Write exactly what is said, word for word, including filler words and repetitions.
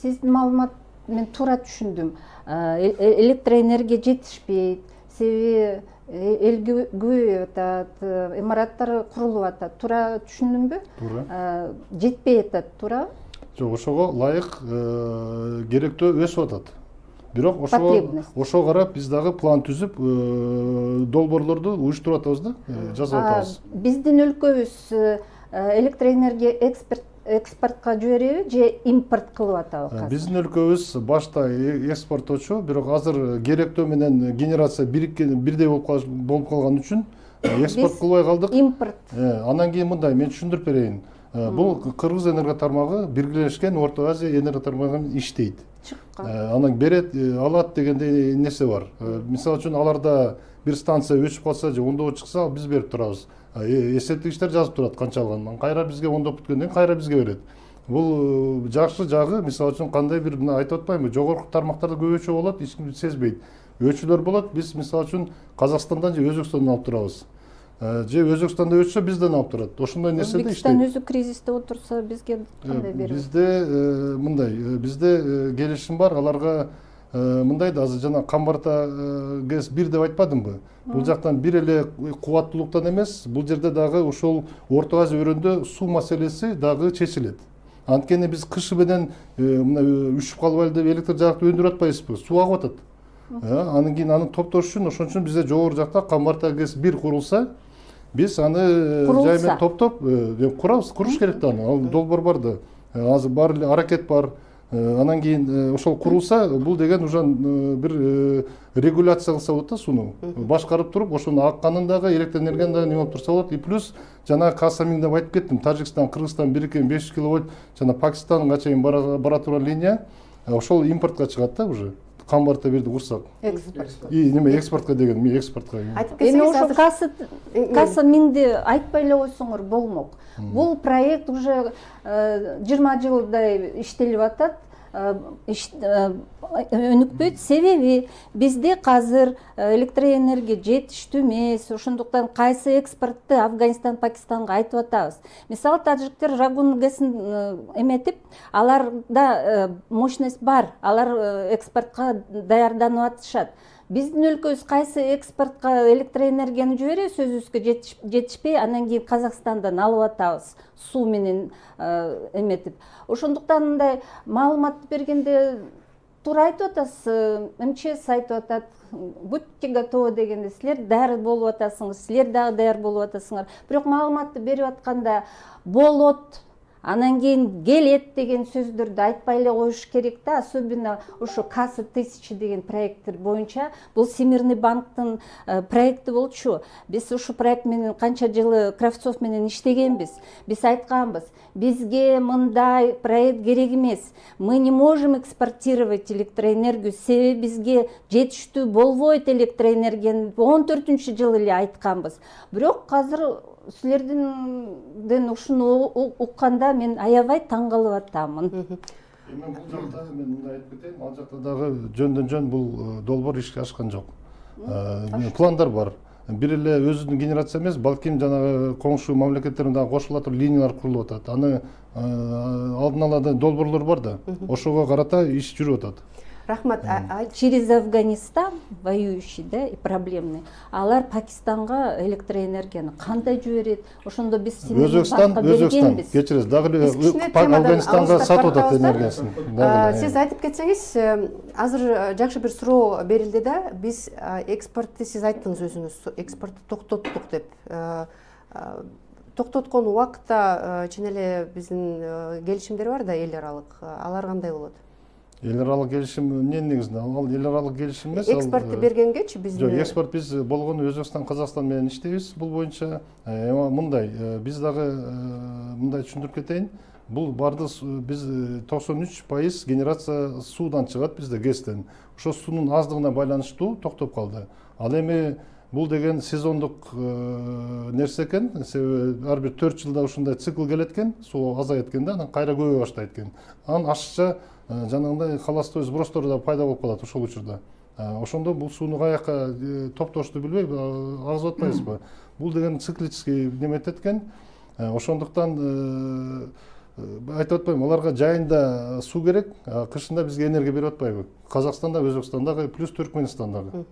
сиздин маалымат мен туура түшүндүм. Электроэнергия жетишпейт, себеби эл көбөйүп атат, имараттар курулуп атат. Туура түшүндүмбү? Туура. Жетпей атат, туурабы? Жок, ошого ылайык керектөө өсүп атат. Бирок ошого ошого карап биз дагы план түзүп, долбоорлорду уюштуруп атабыз да, жазып атабыз. Биздин өлкөбүз электроэнергия экспорт экспортко жибереби же импорт кылып атабы? Биздин өлкөбүз башта экспорттоочу, бирок азыр керектөө менен генерация бириккен бирдей болуп калган үчүн экспорт кылбай калдык. Импорт. Анан кийин мындай, мен түшүндүрүп берейин. Бул Кыргыз энерго тармагы биргелешкен Орто Азия энерго тармагы менен иштейт. Анан берет, алат дегендей нерсе бар. Мисалы үчүн аларда бир станция өчүп калса же ондоп чыкса, биз берип турабыз. Эсептегичтер жазып турат канча алганын. Кайра бизге ондоп бүткөндөн кийин кайра бизге берет. Бул жакшы жагы, мисалы үчүн кандай бир айтып атпаймынбы, жогорку тармактарда көбөчө болот, эч ким сезбейт. Өчүлөр болот, биз мисалы үчүн Казакстандан же Өзбекстандан алып турабыз. Же Өзбекстанда өчсө бизден алып турат. Ошондой нерседе иштейт. Өзбекстан өзү кризисте отурса, бизге кандай берет? Бизде мындай, бизде келишим бар, аларга мындай да, азыр жана Камбарта ГЭС бир деп айтпадымбы? Бул жактан бир эле кубаттуулуктан эмес, бул жерде дагы ошол Орто Азия өрөөндө суу маселеси дагы чечилет. Анткени биз кышы менен мына үшүп калбайлы деп электр жарыкты өндүрүп атпайбызбы? Суу агып атат. Анан кийин аны топтош үчүн, ошон үчүн бизде жогору жакта Камбарта ГЭС бир курулса, биз аны жай менен топтоп курабыз, куруш керек да аны. Ал долбоор бар да. Азыр бар эле аракет бар. Анан кийин ошол курулса, бул деген уже бир регуляция кылса болот да сууну. Башкарып туруп, ошонун акканын дагы, электр энергияны дагы неме болуп турса болот. И плюс жана Касамин деп айтып кеттим, Тажикстан, Кыргызстан бириккен беш жүз киловольт, жана Пакистанга чейин бара турган линия, ошол импортко чыгат да уже. Камбарта бирди курсак. Экспорт. И неме экспортко деген, мен экспортко. Эми ошо Касаминди айтпай эле койсоңор болмок. Бул проект уже жыйырма жылдай иштелип атат. Өнүкпөйт, себеби бизде азыр электроэнергия жетиштүү эмес, ошондуктан кайсы экспортты Афганистан, Пакистанга айтып атабыз. Мисалы, тажиктер Рагун ГЭСин эметип, аларда мощность бар, алар экспортко даярданып атышат. Биздин өлкөбүз кайсы экспортко электроэнергияны жиберебиз, өзүбүзгө жетишпей, анан кийин Казакстандан алып атабыз, суу менен эметип. Ошондуктан мындай маалымат бергенде туура айтып атасыз, МЧС айтып атат, будьте готовы дегенде, силер даяр болуп атасыңар, силер дагы даяр болуп атасыңар. Бирок маалыматты берип атканда болот, анан кийин келет деген сөздөрдү айтпай эле коюш керек да, особенно ошо Касса тысяча деген проекттер боюнча. Бул Всемирный банктын проекти болчу. Биз ушу проект менен канча жылы Кравцов менен иштегенбиз. Биз айтканбыз, бизге мындай проект керек эмес. Мы не можем экспортировать электроэнергию, себеби бизге жетиштүү болбойт электроэнергияны. он төртүнчү жылы эле айтканбыз. Бирок азыр силерден ушуну укканда мен аябай таң калып атамын. Эми бул жакта мен мындай айтып кетейин, ал жакта дагы жөндөн жөн бул долбоор ишке ашкан жок. Пландар бар. Бир эле өзүнүн генерация эмес, балким жанагы коңшу мамлекеттерден дагы кошула туруп линиялар курулуп атат. Аны алдын ала долбоорлор бар да, ошого карата иш жүрүп атат. Рахмат. Через Афганистан воюющий, да, и проблемный. Алар Пакистанга электроэнергияны кандай жиберет? Ошондо биз Өзбекстан, Өзбекстан кечиресиз, дагы Афганистанга сатып атат энергиясын. Сиз айтып кетсеңиз, азыр жакшы бир суроо берилди да, биз экспортты, сиз айттыңыз өзүңүз, экспортты токтоттук деп. Токтоткон убакытта чын эле биздин келишимдер бар да, эл аралык. Алар кандай болот? Эл аралык келишим эмне негизинде? Ал эл аралык келишим эмес. Экспортты бергенгечи биздин. Жок, экспорт биз болгону Өзбекстан, Казакстан менен иштейбиз бул боюнча. Эми мындай, биз дагы мындай түшүндүрүп кетейин. Бул барды биз токсон үч пайыз генерация суудан чыгат бизде, ГЭСтен. Ошо суунун аздыгына байланыштуу токтоп калды. Ал эми бул деген сезондук нерсе экен, себеби ар бир төрт жылда ушундай цикл келет экен, суу азайат экен да, анан кайра көбөй баштайт экен. Анан ашыкча жанагындай холостой сбростор да пайда болуп калат ошол учурда. Ошондо бул сууну каяка топтошту билбей агызып атпайбызбы? Бул деген циклический неметет экен. Ошондуктан айтып атпаймынбы, аларга жайында суу керек, кышында бизге энергия берип атпайбы? Казакстанда, Өзбекстандагы плюс Түркмөнстандагы.